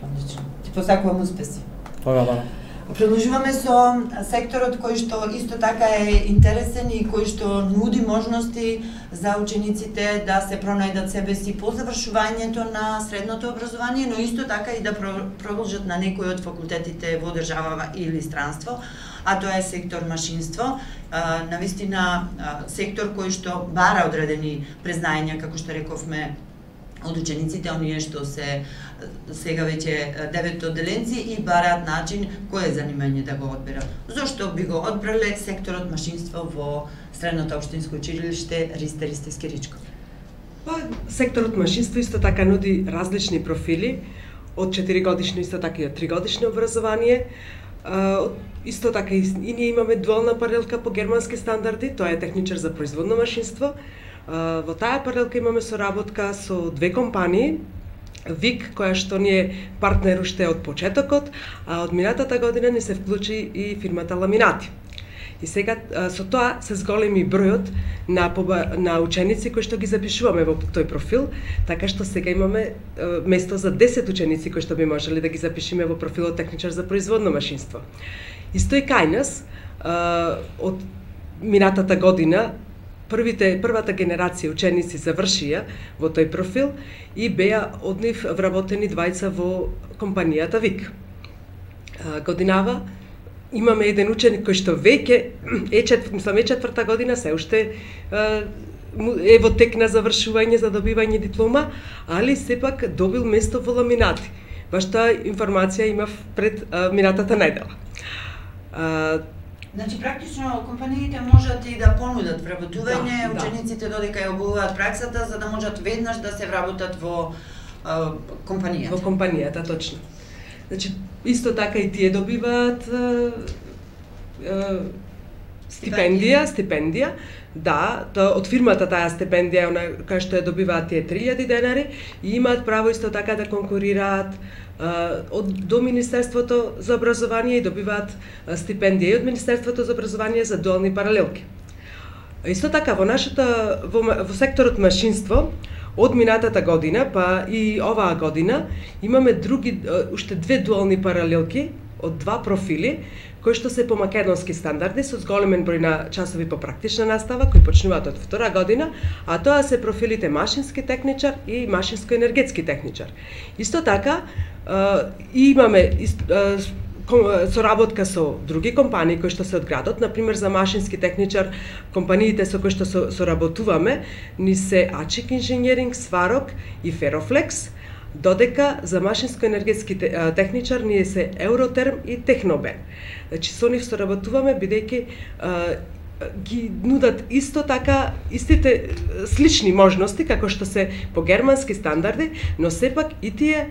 Одлично. Ти посакувам успеси. Благодарам. Продолжуваме со секторот кој што исто така е интересен и кој што нуди можности за учениците да се пронајдат себе си по завршувањето на средното образование, но исто така и да продолжат на некој од факултетите во држава или странство, а тоа е сектор машинство. Навистина сектор кој што бара одредени признања, како што рековме, од учениците, оние што се сега веќе девет одделенци и бараат начин кое занимање да го одберат. Зошто би го одбрале секторот машинство во Средното општинско училиште Ристе Ристевски Ричко? Па, секторот машинство исто така нуди различни профили, од четиригодишно исто така и од тригодишно образование. Исто така и ние имаме дуална паралелка по германски стандарди, тоа е техничар за производно машинство. Во таа паралелка имаме соработка со две компании, ВИК, која што ни е партнер уште од почетокот, а од минатата година ни се вклучи и фирмата Ламинати. И сега со тоа се зголеми бројот на на ученици кои што ги запишуваме во тој профил, така што сега имаме место за десет ученици кои што би можеле да ги запишеме во профилот техничар за производно машинство. Исто и кај нас од минатата година првите првата генерација ученици завршија во тој профил и беа од нив вработени двајца во компанијата ВИК. Годинава имаме еден ученик кој што веќе е чет, мислам е четврта година, се уште е во тек на завршување за добивање диплома, али сепак добил место во Ламинати. Баш таа информација имав пред минатата недела. Значи, практично, компаниите можат и да понудат вработување, да, учениците да. Додека ја обуват праксата, за да можат веднаш да се вработат во а, компанијата. Во компанијата, точно. Значи, исто така и тие добиваат а, а, стипендија, стипендија. Да, тоа од фирмата таа стипендија, она кај што ја добиваат тие три илјади денари, и имаат право исто така да конкурираат од до Министерството за образование и добиваат стипендија и од Министерството за образование за дуални паралелки. Исто така во нашата во, во секторот машинство од минатата година па и оваа година имаме други уште две дуални паралелки од два профили кои што се по македонски стандарди со зголемен број на часови по практична настава кои почнуваат од втора година, а тоа се профилите машински техничар и машинско-енергетски техничар. Исто така имаме соработка со други компании кои што се од градот, например за машински техничар, компаниите со кои што соработуваме ни се Ачик инженеринг, Сварок и Ферофлекс, додека за машинско-енергетски техничар ние се Евротерм и Технобен. Значи со нив соработуваме бидејќи ги нудат исто така истите слични можности како што се по германски стандарди, но сепак и тие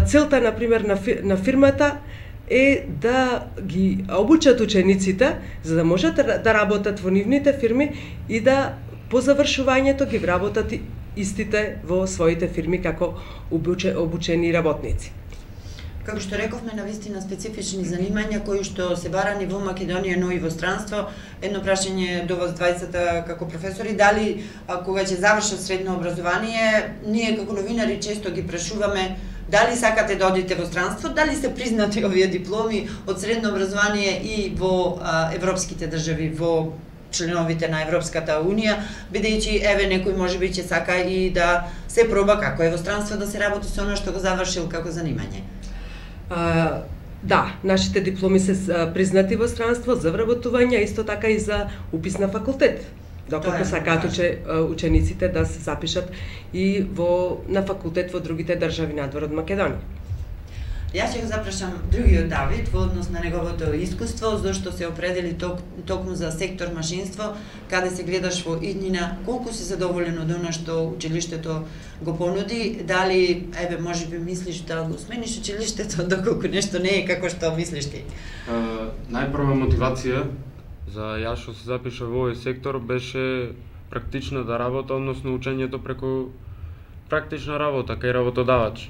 целта на пример на, фир, на фирмата е да ги обучат учениците за да можат да работат во нивните фирми и да по завршувањето ги вработат истите во своите фирми како обучени работници. Како што рековме, навистина специфични занимања кои што се барани во Македонија, но и во странство. Едно прашање до вас двајцата како професори, дали а, кога ќе завршат средно образование, ние како новинари често ги прашуваме дали сакате да одите во странство, дали се признати овие дипломи од средно образование и во а, европските држави, во членовите на Европската Унија, бидејќи еве некој можеби ќе сака и да се проба како е во странство да се работи со оно што го завршил како занимање. Uh, да, нашите дипломи се uh, признати во странство за вработување, исто така и за упис на факултет. доколку сакаат уче, учениците да се запишат и во на факултет во другите држави надвор од Македонија. Јас ќе го запрашам другиот Давид во однос на неговото искуство, зашто се определи ток, токму за сектор машинство, каде се гледаш во иднина, колку си задоволен од она што училиштето го понуди, дали, еве, можеби мислиш да го смениш училиштето, доколку нешто не е како што мислиш ти? Uh, најпрва мотивација за јас што се запиша во овој сектор беше практичната работа, односно учењето преку практична работа кај работодавач.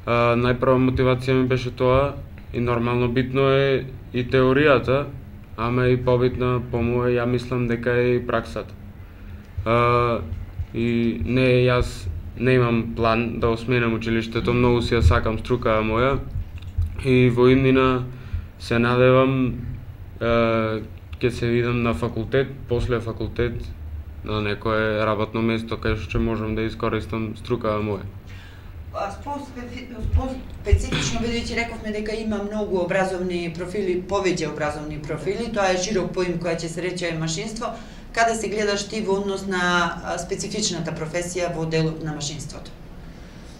Uh, најпрва мотивација ми беше тоа и нормално битно е и теоријата, ама и побитна по моје, ја мислам дека е и праксата. Uh, и не, јас не имам план да осменам училиштето, многу си ја сакам струкава моја и во иднина се надевам uh, ќе се видам на факултет, после факултет на некое работно место кај што можам да искористам струкава моја. Специфично, бидејќи рековме дека има многу образовни профили, повеќе образовни профили, тоа е широк поим која ќе се рече машинство, каде се гледаш ти во однос на специфичната професија во делот на машинството?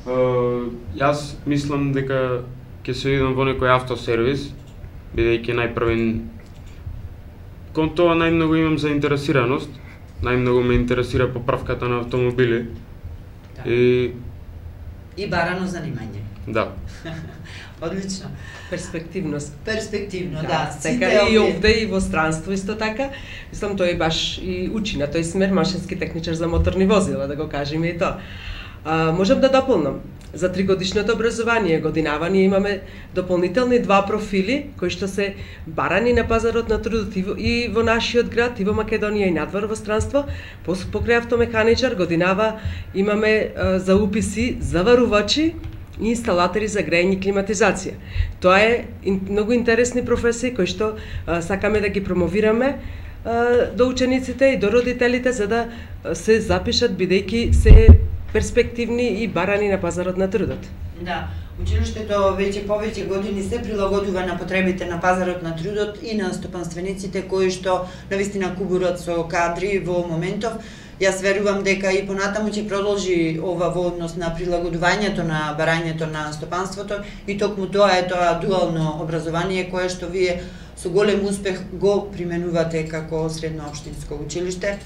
Uh, јас мислам дека ќе се видам во некој автосервис, бидејќи најпрвен кон тоа најмногу имам заинтересираност, најмногу ме интересира поправката на автомобили. Да. И И барано занимање. Да. Одлично. Перспективност. Перспективно, да. да. Така и овде и во странство исто така. Мислам тој баш и учи на тој смер машински техничар за моторни возила, да го кажеме и тоа. А, можам да дополнам. За тригодишното образование годинава ние имаме дополнителни два профили кои што се барани на пазарот на трудот и во нашиот град, и во Македонија и надвор во странство. Покрај автомеханичар годинава имаме а, за уписи заварувачи и инсталатори за грејење и климатизација. Тоа е многу интересни професии кои што а, сакаме да ги промовираме а, до учениците и до родителите за да се запишат бидејќи се перспективни и барани на пазарот на трудот. Да, училиштето веќе повеќе години се прилагодува на потребите на пазарот на трудот и на стопанствениците кои што навистина кубурат со кадри во моментов. Јас верувам дека и понатаму ќе продолжи ова во однос на прилагодувањето на барањето на стопанството и токму тоа е тоа дуално образование кое што вие со голем успех го применувате како средно општинско училиште.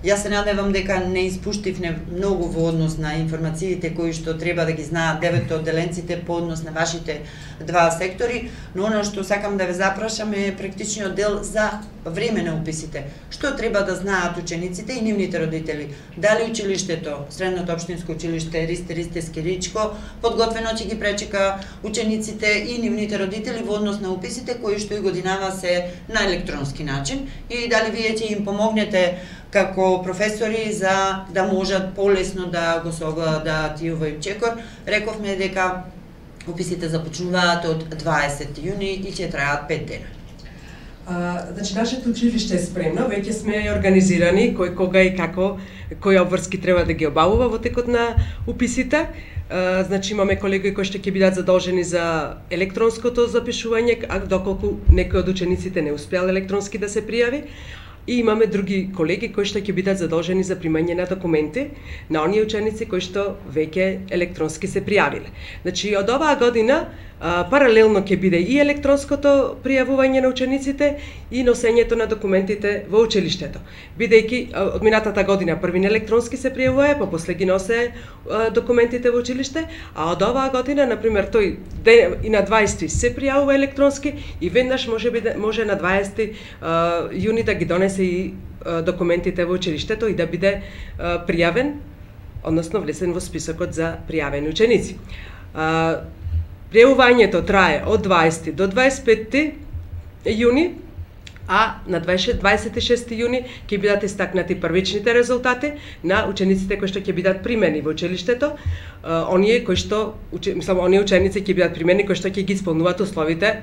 Јас се надевам дека не испуштивне многу во однос на информациите кои што треба да ги знаат девет одделенците по однос на вашите два сектори, но оно што сакам да ве запрашам е практичниот дел за време на уписите. Што треба да знаат учениците и нивните родители? Дали училиштето, средното општинско училиште Ристе Ристевски Ричко, подготвено ќе ги пречека учениците и нивните родители во однос на уписите кои што и годинава се на електронски начин и дали вие ќе им помогнете како професори за да можат полесно да го совладаат и овој чекор. Рековме дека уписите започнуваат од дваесети јуни и ќе траат пет дена. А, значи, нашето училиште е спремно, веќе сме организирани кој кога и како, кои обврски треба да ги обавува во текот на уписите. А, значи, имаме колеги кои што ќе бидат задолжени за електронското запишување, а доколку некој од учениците не успеал електронски да се пријави. И имаме други колеги кои што ќе бидат задолжени за примање на документи на оние ученици кои што веќе електронски се пријавиле. Значи, од оваа година а, паралелно ќе биде и електронското пријавување на учениците и носењето на документите во училиштето. Бидејќи од минатата година првин електронски се пријавува, па после ги носе а, документите во училиште, а од оваа година, например, тој ден, и на дваесети се пријавува електронски и веднаш може биде, може на дваесети а, јуни да ги донесе и а, документите во училиштето и да биде а, пријавен, односно влесен во списокот за пријавени ученици. А, пријавувањето трае од дваесети до дваесет петти јуни, а на дваесет и шести јуни ќе бидат истакнати првичните резултати на учениците кои што ќе бидат примени во училиштето, а, оние кои што, мислам, оние ученици ќе бидат примени кои што ќе ги исполнуваат условите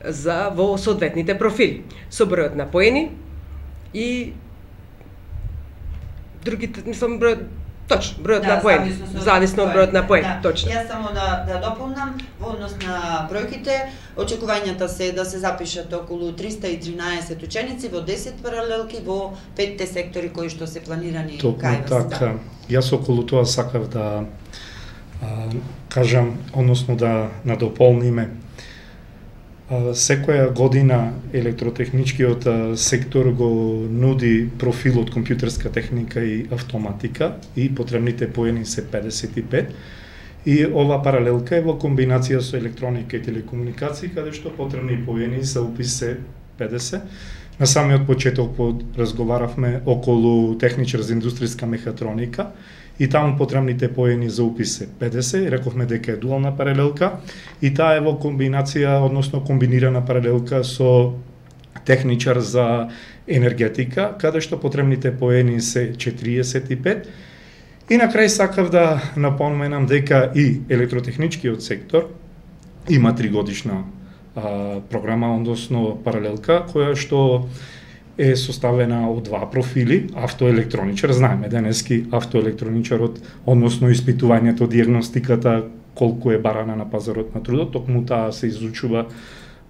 за во соодветните профили, со бројот на поени и другите, мислам, број, Точно, бројот Да, на поени, зависно од зависно од бројот на поени, Да. точно. Јас само да да дополнам во однос на бројките, очекувањата се да се запишат околу триста и тринаесет ученици во десет паралелки во петте сектори кои што се планирани Токму кај вас. така. Јас околу тоа сакав да а, кажам, односно да надополниме. А, секоја година електротехничкиот а, сектор го нуди профил од компјутерска техника и автоматика и потребните поени се педесет и пет. И ова паралелка е во комбинација со електроника и телекомуникации, каде што потребни поени за упис се педесет. На самиот почеток разговаравме околу техничар за индустријска мехатроника и таму потребните поени за упис се педесет, рековме дека е дуална паралелка и таа е во комбинација, односно комбинирана паралелка со техничар за енергетика, каде што потребните поени се четириесет и пет. И на крај сакав да напоменам дека и електротехничкиот сектор има тригодишна а, програма, односно паралелка, која што е составена од два профили, автоелектроничар, знаеме денески автоелектроничарот, односно испитувањето, диагностиката, колку е барана на пазарот на трудот, токму таа се изучува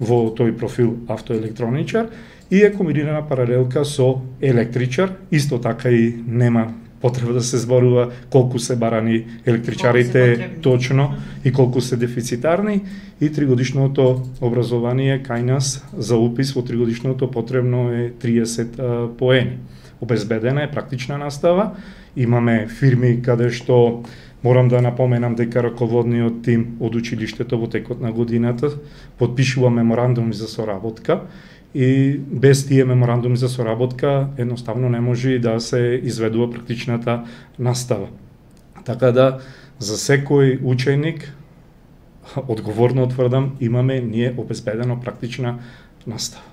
во тој профил автоелектроничар и е комбинирана паралелка со електричар, исто така и нема потреба да се зборува колку се барани електричарите се точно и колку се дефицитарни и тригодишното образование кај нас за упис во тригодишното потребно е триесет а, поени. Обезбедена е практична настава, имаме фирми каде што морам да напоменам дека раководниот тим од училиштето во текот на годината потпишува меморандуми за соработка и без тие меморандуми за соработка едноставно не може да се изведува практичната настава. Така да за секој ученик одговорно утврдам имаме ние обезбедено практична настава.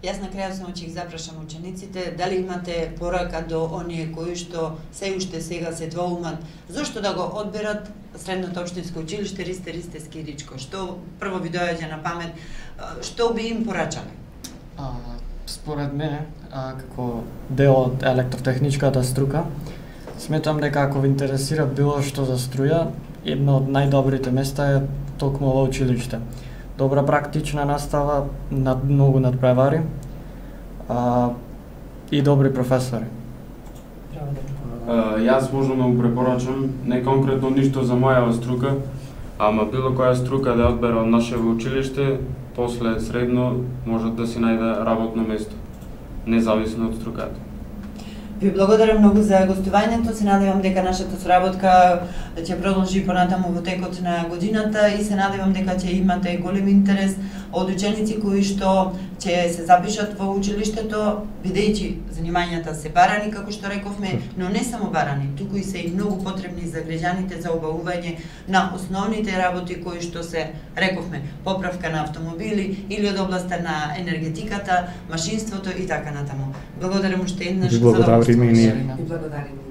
Јас на крајот само ќе ги запрашам учениците, дали имате порака до оние кои што се уште сега се двоумат, зошто да го одберат средното општинско училиште Ристе Ристевски Ричко? Што прво ви доаѓа на памет, што би им порачале? А, според мене, а, како дел од електротехничката струка, сметам дека ако ви интересира било што за струја, едно од најдобрите места е токму во училиште. Добра практична настава, над многу надпревари а, и добри професори. Uh, јас можам да му препорачам, не конкретно ништо за мојава струка, ама било која струка да одбера од нашево училиште, после средно можат да си најде работно место, независно од струката. Ви благодарам многу за гостувањето, се надевам дека нашата соработка ќе продолжи понатаму во текот на годината и се надевам дека ќе имате голем интерес од ученици кои што ќе се запишат во училиштето, бидејќи занимањата се барани, како што рековме, но не само барани, туку и се и многу потребни за граѓаните за обавување на основните работи кои што се рековме, поправка на автомобили или од областа на енергетиката, машинството и така натаму. Благодарам уште еднаш за Благодарим и ние. И благодарим.